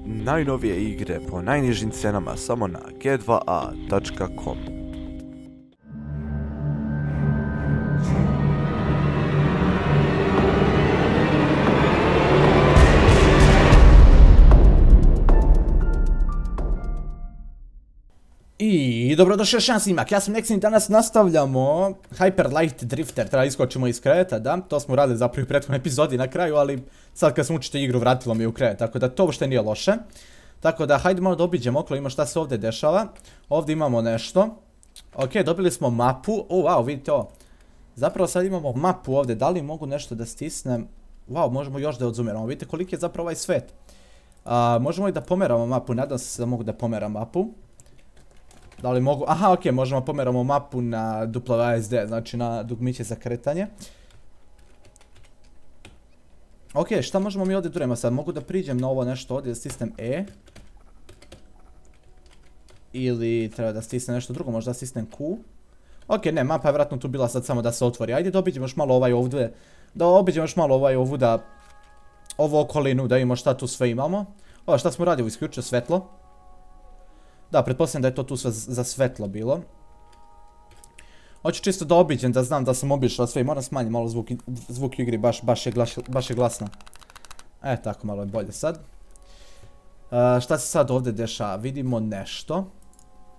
Najnovije igre po najnižim cenama samo na g2a.com. I dobrodošli još jedan snimak, ja sam Nexin, danas nastavljamo Hyper Light Drifter, treba iskočimo iz kreta, da, to smo radili zapravo u prethodnoj epizodi na kraju, ali sad kad sam učite igru vratilo mi u kret, tako da to uopšte nije loše. Tako da hajde malo da obiđemo okolo, ima šta se ovdje dešava, ovdje imamo nešto. Ok, dobili smo mapu, wow, vidite ovo, zapravo sad imamo mapu ovdje, da li mogu nešto da stisnem, wow, možemo još da odzumiramo, vidite koliki je zapravo ovaj svet. Možemo i da pomeramo mapu, nadam se da mogu da pomeram mapu. Da li mogu, aha, ok, možemo pomeramo mapu na WASD, znači na dugmiće za kretanje. Ok, šta možemo mi ovdje duremo sad, mogu da priđem na ovo nešto ovdje, da stisnem E. Ili treba da stisnem nešto drugo, možda da stisnem Q. Ok, ne, mapa je vjerojatno tu bila sad samo da se otvori, ajde da obiđemo još malo ovaj ovdje, da obiđemo još malo ovaj ovu da, ovu okolinu, da imamo šta tu sve imamo. Ovo šta smo radili, isključio svetlo. Da, pretpostavljam da je to tu sve za svetlo bilo. Hoću čisto da obiđem, da znam da sam obišao sve i moram smanjiti malo zvuk u igri, baš je glasno. Tako malo je bolje sad. Šta se sad ovdje dešava? Vidimo nešto.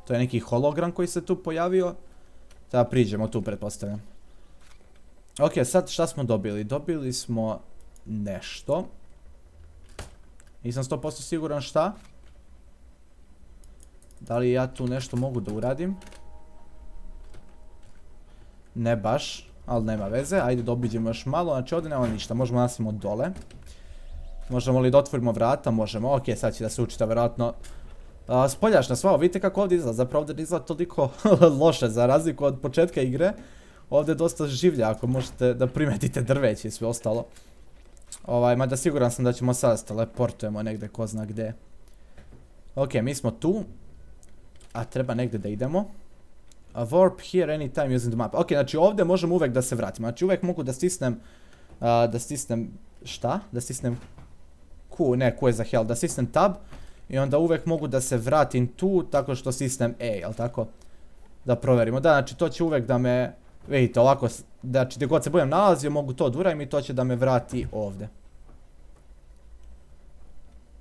To je neki hologram koji se tu pojavio. Da priđemo tu, pretpostavljam. Ok, sad šta smo dobili? Dobili smo nešto. Nisam 100% siguran šta. Da li ja tu nešto mogu da uradim? Ne baš, ali nema veze. Ajde da obiđemo još malo, znači ovdje nema ništa, možemo nastavimo dole. Možemo li da otvorimo vrata? Možemo, ok, sad će da se učita vjerojatno spoljašna sva, vidite kako ovdje izgleda, zapravo ovdje izgleda toliko loše za razliku od početka igre. Ovdje je dosta življa, ako možete da primetite drveće i sve ostalo. Mada siguran sam da ćemo sad se teleportujemo negdje, ko zna gdje. Ok, mi smo tu. A treba negdje da idemo. Warp here anytime using the map. Ok, znači ovdje možemo uvijek da se vratimo. Znači uvijek mogu da stisnem... šta? Da stisnem Q, ne, Q je za hell. Da stisnem tab. I onda uvijek mogu da se vratim tu tako što stisnem E, jel tako? Da provjerimo. Da, znači to će uvijek da me... Vidite, ovako, znači gdje god se budem nalazio mogu to durajem i to će da me vrati ovdje.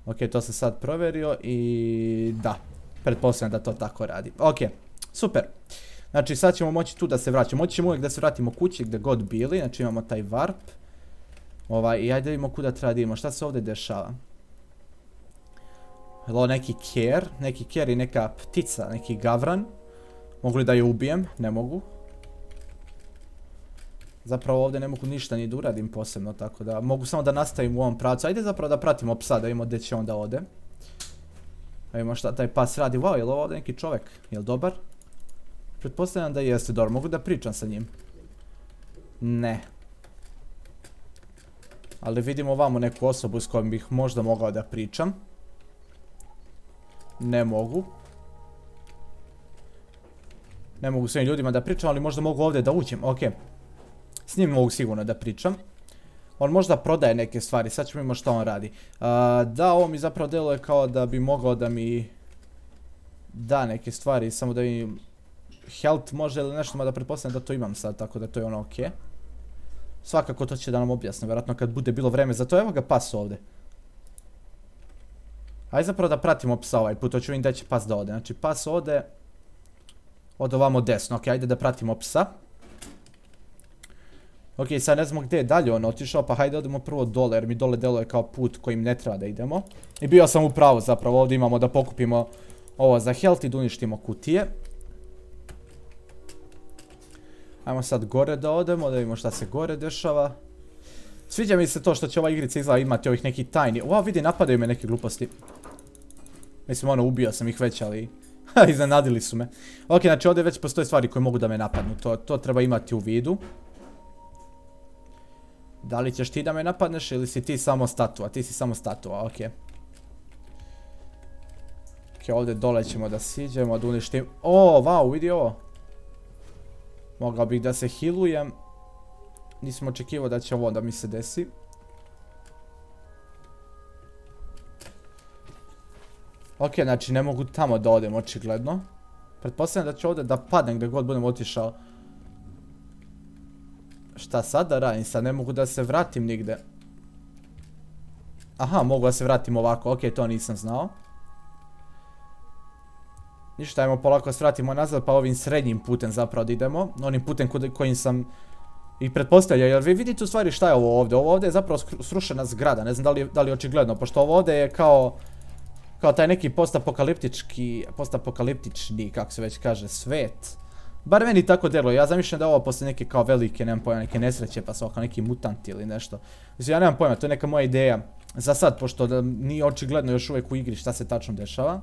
Ok, to sam sad provjerio i... da. Pretpostavljam da to tako radi. Ok, super. Znači sad ćemo moći tu da se vraćamo. Moći ćemo uvijek da se vratimo kući gdje god bili. Znači imamo taj warp. I ajde vidimo kuda treba da idemo. Šta se ovdje dešava? Ovo neki ker. Neki ker i neka ptica. Neki gavran. Mogu li da je ubijem? Ne mogu. Zapravo ovdje ne mogu ništa ni da uradim posebno. Tako da mogu samo da nastavim u ovom pravcu. Ajde zapravo da pratimo psa da vidimo gdje će onda ode. Da vidimo šta taj pas radi. Wow, je li ovo ovdje neki čovjek? Je li dobar? Pretpostavljam da jeste dobar. Mogu da pričam sa njim? Ne. Ali vidimo ovamo neku osobu s kojom bih možda mogao da pričam. Ne mogu. Ne mogu s ovim ljudima da pričam, ali možda mogu ovdje da uđem. Ok. S njim mogu sigurno da pričam. On možda prodaje neke stvari, sad ćemo vidjeti što on radi. Da, ovo mi zapravo deluje kao da bi mogao da mi da neke stvari, samo da mi health može ili nešto, mada pretpostavljam da to imam sad, tako da to je ono ok. Svakako to će da nam objasne, vjerojatno kad bude bilo vreme za to. Evo ga pas ovdje. Ajde zapravo da pratimo psa ovaj put, to ću vidjeti da će pas da ode. Znači pas ode od ovamo desno, ok, ajde da pratimo psa. Ok, sad ne znamo gdje je dalje on otišao, pa hajde odemo prvo dole, jer mi dole deluje kao put kojim ne treba da idemo. I bio sam u pravu zapravo, ovdje imamo da pokupimo ovo za health i da uništimo kutije. Ajmo sad gore da odemo, da vidimo šta se gore dešava. Sviđa mi se to što će ova igrica izgleda imati ovih neki tajni. Wow, vidi, napadaju me neke gluposti. Mislim, ono, ubio sam ih već, ali... iznenadili su me. Ok, znači ovdje već postoje stvari koje mogu da me napadnu, to treba imati u vidu. Da li ćeš ti da me napadneš ili si ti samo statua? Ti si samo statua, ok. Ok, ovdje dole ćemo da siđemo, da uništim... O, wow, vidi ovo. Mogao bih da se healujem. Nisam očekivao da će ovo da mi se desi. Ok, znači ne mogu tamo da odem, očigledno. Pretpostavljam da ću ovdje da padnem gdje god budem otišao. Šta sad da radim? Sad ne mogu da se vratim nigde. Aha, mogu da se vratim ovako, ok, to nisam znao. Ništa, ajmo polako se vratimo nazad, pa ovim srednjim putem zapravo da idemo. Onim putem kojim sam i pretpostavljao, jer vi vidite u stvari šta je ovo ovdje. Ovo ovdje je zapravo srušena zgrada, ne znam da li je očigledno, pošto ovo ovdje je kao taj neki postapokaliptični, kako se već kaže, svet. Bar meni tako djeluje, ja zamišljam da je ovo poslije neke kao velike, nemam pojma, neke nesreće, pa su kao neki mutanti ili nešto. Mislim, ja nemam pojma, to je neka moja ideja za sad, pošto nije očigledno još uvijek u igri šta se tačno dešava.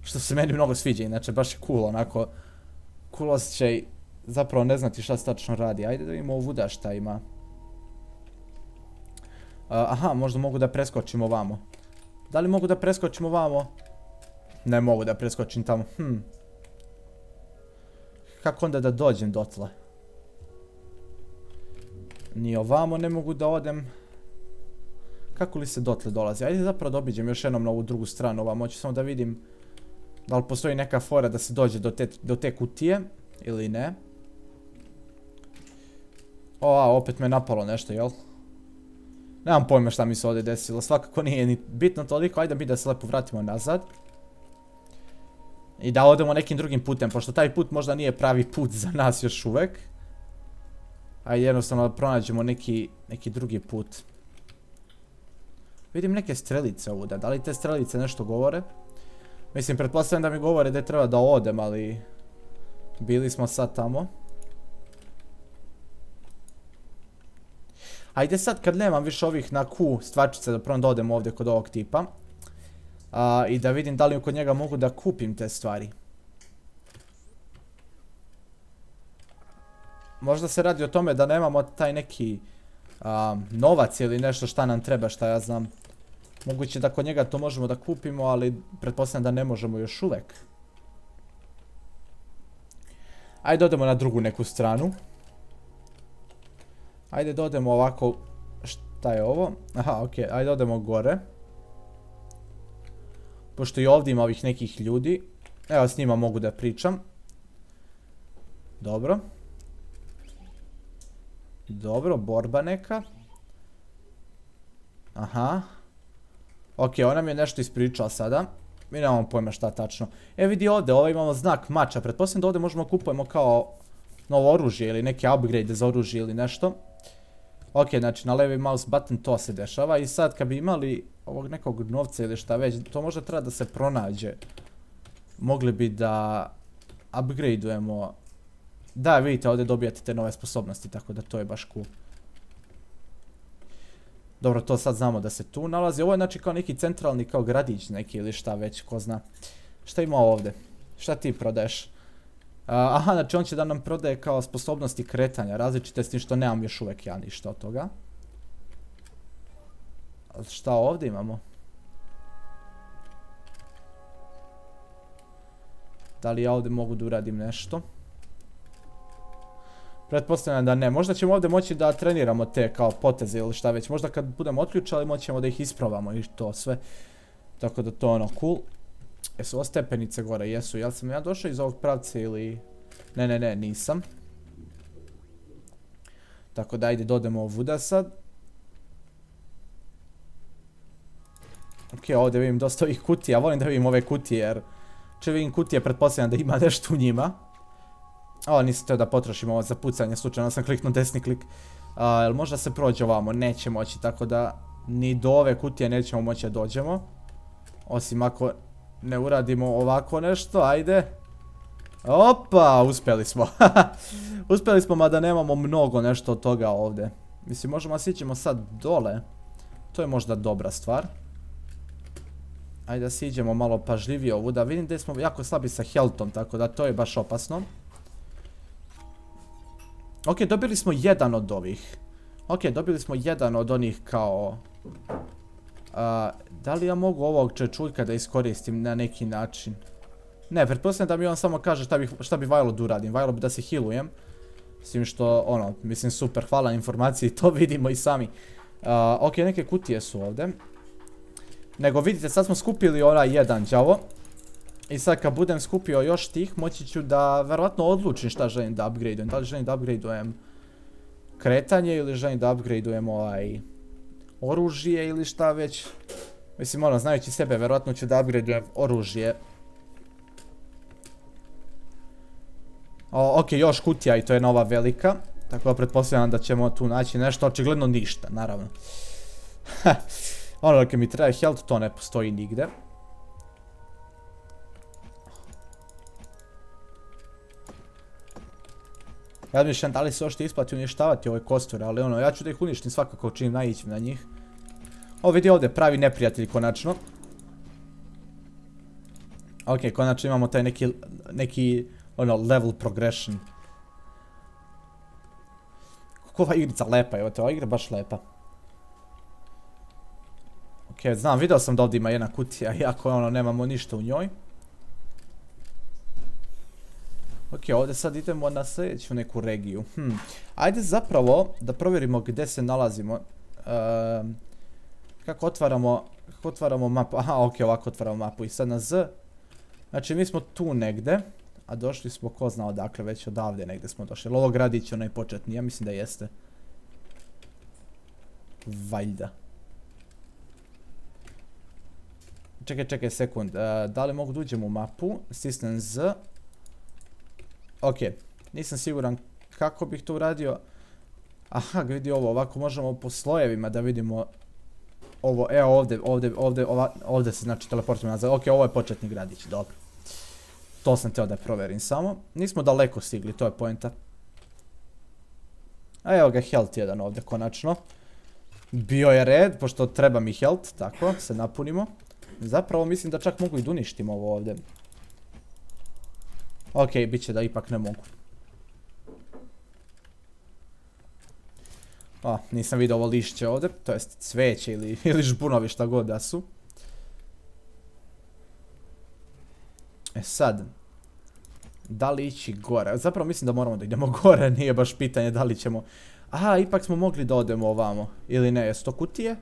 Što se meni mnogo sviđa, inače baš je cool, onako, cool osjećaj, zapravo ne znati šta se tačno radi. Ajde da vidimo ovuda šta ima. Aha, možda mogu da preskočim ovamo. Da li mogu da preskočim ovamo? Ne mogu da preskočim tamo, Kako onda da dođem dotle? Ni ovamo ne mogu da odem. Kako li se dotle dolazi? Ajde zapravo da obiđem još jednom na ovu drugu stranu ovamo, hoću samo da vidim da li postoji neka fora da se dođe do te kutije ili ne. Opet me napalo nešto, jel? Nemam pojma šta mi se ovdje desilo, svakako nije ni bitno toliko, ajde mi da se lepo vratimo nazad. I da odemo nekim drugim putem, pošto taj put možda nije pravi put za nas još uvek. Ajde jednostavno da pronađemo neki drugi put. Vidim neke strelice ovuda, da li te strelice nešto govore? Mislim, pretpostavljam da mi govore da treba da odem, ali bili smo sad tamo. Ajde sad kad nemam više ovih na Q stvarčice da prvo da odem ovdje kod ovog tipa. I da vidim da li kod njega mogu da kupim te stvari. Možda se radi o tome da nemamo taj neki novac ili nešto šta nam treba, šta ja znam. Moguće da kod njega to možemo da kupimo, ali pretpostavljam da ne možemo još uvek. Ajde odemo na drugu neku stranu. Ajde da odemo ovako, šta je ovo? Aha, ok, ajde odemo gore. Pošto i ovdje ima ovih nekih ljudi. Evo s njima mogu da pričam. Dobro. Dobro, borba neka. Aha. Ok, ona mi je nešto ispričala sada. Mi nemamo pojma šta tačno. Vidi ovdje, ovo imamo znak mača. Pretpostavljam da ovdje možemo kupujemo kao novo oružje ili neke upgrade za oružje ili nešto. Ok, znači na levi mouse button to se dešava i sad kad bi imali ovog nekog novca ili šta već, to možda treba da se pronađe. Mogli bi da upgradeujemo. Da, vidite, ovdje dobijate te nove sposobnosti, tako da to je baš cool. Dobro, to sad znamo da se tu nalazi. Ovo je znači kao neki centralni kao gradić neki ili šta već, ko zna. Šta ima ovdje? Šta ti prodaješ? Aha, znači on će da nam prodaje kao sposobnosti kretanja, različite s tim što nemam još uvek ja ništa od toga. Šta ovdje imamo? Da li ja ovdje mogu da uradim nešto? Pretpostavljam da ne. Možda ćemo ovdje moći da treniramo te kao poteze ili šta već. Možda kad budemo otključali moćemo da ih isprobamo i to sve. Tako da to je ono cool. Jesu ovo stepenice gore? Jesu. Jel sam ja došao iz ovog pravca ili... Ne, nisam. Tako da ajde dodemo ovuda sad. Ok, ovdje vidim dosta ovih kutija. Volim da vidim ove kutije jer... Če vidim kutije, pretpostavljam da ima nešto u njima. Ovo nisam teo da potrošim ovo za pucanje, slučajno sam kliknuo desni klik. Jel možda se prođe ovamo? Neće moći, tako da ni do ove kutije nećemo moći da dođemo. Osim ako ne uradimo ovako nešto, ajde. Opa, uspjeli smo. Uspjeli smo, mada nemamo mnogo nešto od toga ovdje. Mislim, možemo da siđemo sad dole. To je možda dobra stvar. Ajde da siđemo malo pažljivije ovuda. Vidim da smo jako slabi sa healthom, tako da to je baš opasno. Ok, dobili smo jedan od ovih. Ok, dobili smo jedan od onih kao... da li ja mogu ovog čečuljka da iskoristim na neki način? Ne, pretpostavljam da mi on samo kaže šta bi valjalo da uradim. Valjalo bi da se healujem. S tim što, ono, mislim super, hvala na informaciji, to vidimo i sami. Ok, neke kutije su ovdje. Nego vidite, sad smo skupili onaj jedan đavo. I sad kad budem skupio još tih, moći ću da verovatno odlučim šta želim da upgradeujem. Da li želim da upgradeujem kretanje ili želim da upgradeujem oružje ili šta već. Mislim, ono, znajući sebe, verovatno ću da upgradeujem oružje. Ok, još kutija i to je nova velika. Tako da pretpostavljam da ćemo tu naći nešto, očigledno ništa, naravno. Ono dok mi treba health, to ne postoji nigde. Ja mišljam da li se ošte isplati uništavati ove kosture, ali ono, ja ću da ih uništim svakako čim naiđem na njih. Ovo vidi ovdje, pravi neprijatelj konačno. Ok, konačno imamo taj neki ono, level progression. Kako ova igrica lepa, evo te, ova igra baš lepa. Ok, znam, vidio sam da ovdje ima jedna kutija, iako ono, nemamo ništa u njoj. Ok, ovdje sad idemo na sljedeću neku regiju. Ajde zapravo da provjerimo gdje se nalazimo. Kako otvaramo mapu? Aha, ok, ovako otvaramo mapu. I sad na Z. Znači mi smo tu negdje. A došli smo ko zna odakle, već odavde negdje smo došli. Ovo gradić je onaj početni, ja mislim da jeste. Valjda. Čekaj sekund. Da li mogu da uđem u mapu? Stisnem Z. Ok, nisam siguran kako bih to uradio. Aha, vidi ovo, ovako možemo po slojevima da vidimo ovo, evo ovdje se znači teleportujemo nazad. Ok, ovo je početni gradić, dobro. To sam htio da proverim samo. Nismo daleko stigli, to je poenta. A evo ga health jedan ovdje konačno. Bio je red, pošto treba mi health, tako, se napunimo. Zapravo mislim da čak mogu i da uništim ovo ovdje. Ok, bit će da ipak ne mogu. Nisam vidio ovo lišće ovdje, to jest cveće ili žbunovi šta god da su. E sad, da li ići gore? Zapravo mislim da moramo da idemo gore, nije baš pitanje da li ćemo... Aha, ipak smo mogli da odemo ovamo, ili ne, jesu to kutije?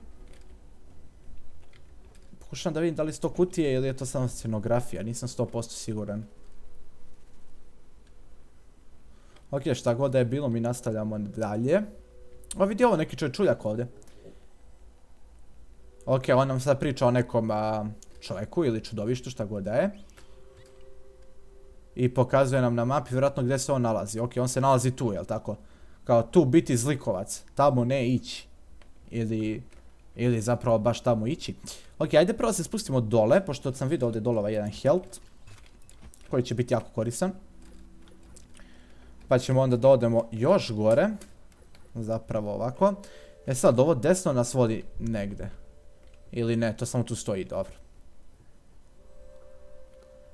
Pokušam da vidim da li su to kutije ili je to samo scenografija, nisam 100% siguran. Ok, šta god da je bilo, mi nastavljamo dalje. O, vidi ovo, neki čuljak ovdje. Ok, on nam sad priča o nekom čovjeku ili čudovištu, šta god da je. I pokazuje nam na mapi vjerojatno gdje se on nalazi. Ok, on se nalazi tu, jel tako? Kao tu biti zlikovac, tamo ne ići. Ili zapravo baš tamo ići. Ok, ajde prvo se spustimo dole, pošto sam vidio ovdje dolova jedan health. Koji će biti jako koristan. Pa ćemo onda da odemo još gore. Zapravo ovako. E sad, ovo desno nas vodi negdje. Ili ne, to samo tu stoji, dobro.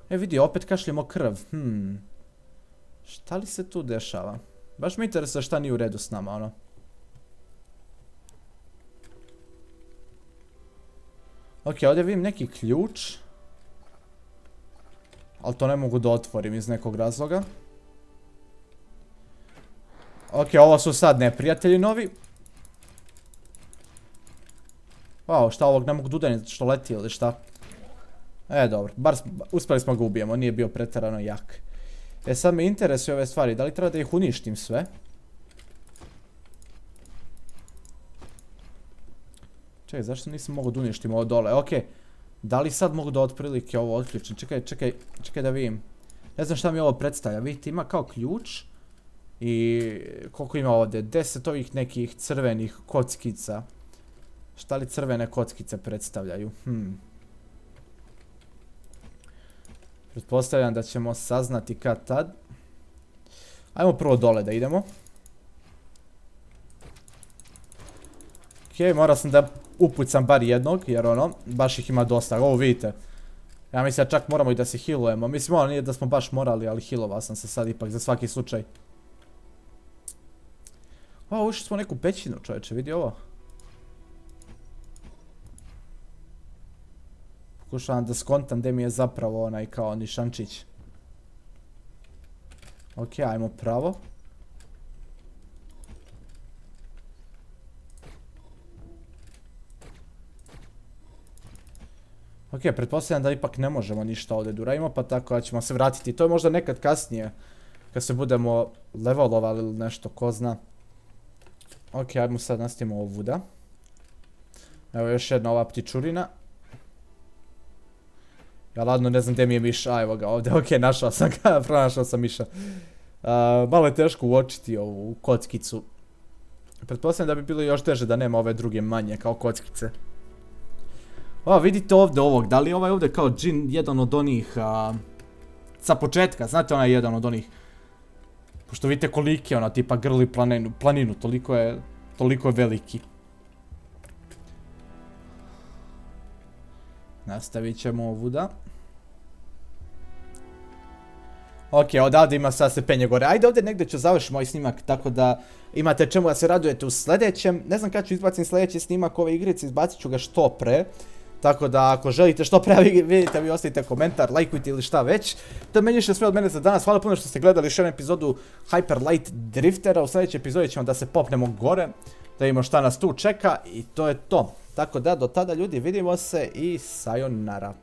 E vidi, opet kašljemo krv. Šta li se tu dešava? Baš me interesuje šta nije u redu s nama, ono. Ok, ovdje vidim neki ključ. Ali to ne mogu da otvorim iz nekog razloga. Ok, ovo su sad neprijatelji novi. Wow, šta ovog ne mogu da udarim što leti ili šta? E, dobro, bar uspjeli smo ga ubijemo, nije bio pretjerano jak. E, sad me interesuje ove stvari, da li treba da ih uništim sve? Čekaj, zašto nisam mogu da uništim ovo dole? Ok, da li sad mogu da otprilike ovo otključim? Čekaj da vidim. Ne znam šta mi ovo predstavlja, vidite ima kao ključ. I koliko ima ovdje? 10 ovih nekih crvenih kockica. Šta li crvene kockice predstavljaju? Pretpostavljam da ćemo saznati kad tad. Ajmo prvo dole da idemo. Ok, morao sam da upucam bar jednog, jer ono, baš ih ima dosta. Ovo vidite. Ja mislim da čak moramo i da se healujemo. Mislim, ono nije da smo baš morali, ali healovao sam se sad ipak za svaki slučaj. O, ušli smo u neku pećinu, čovječe, vidi ovo. Pokušavam da skontam gdje mi je zapravo onaj kao nišančić. Ok, ajmo pravo. Ok, pretpostavljam da ipak ne možemo ništa ovdje da uradimo, pa tako da ćemo se vratiti. To je možda nekad kasnije, kad se budemo levelovali ili nešto, ko zna. Ok, ajmo sad nastavimo ovuda. Evo još jedna ova ptičurina. Ja ladno ne znam gdje mi je miš, a evo ga ovdje, ok, našao sam ga, pronašao sam miša. Malo je teško uočiti ovu kockicu. Pretpostavljam da bi bilo još teže da nema ove druge manje kao kockice. O, vidite ovdje ovog, da li je ovaj ovdje kao džin jedan od onih sa početka, znate onaj jedan od onih. Pošto vidite koliki je ona, tipa grli planinu, toliko je veliki. Nastavit ćemo ovuda. Ok, odavde ima sad se penje gore. Ajde ovdje negdje ću završiti moj snimak, tako da imate čemu da se radujete u sljedećem. Ne znam kada ću izbaciti sljedeći snimak ove igrice, izbacit ću ga što pre. Tako da ako želite što pre vidite, vi ostavite komentar, lajkujte ili šta već. To je meni što sve od mene za danas. Hvala puno što ste gledali još jednu epizodu Hyper Light Driftera. U sljedećoj epizodi ćemo da se popnemo gore, da vidimo šta nas tu čeka i to je to. Tako da do tada ljudi vidimo se i sayonara.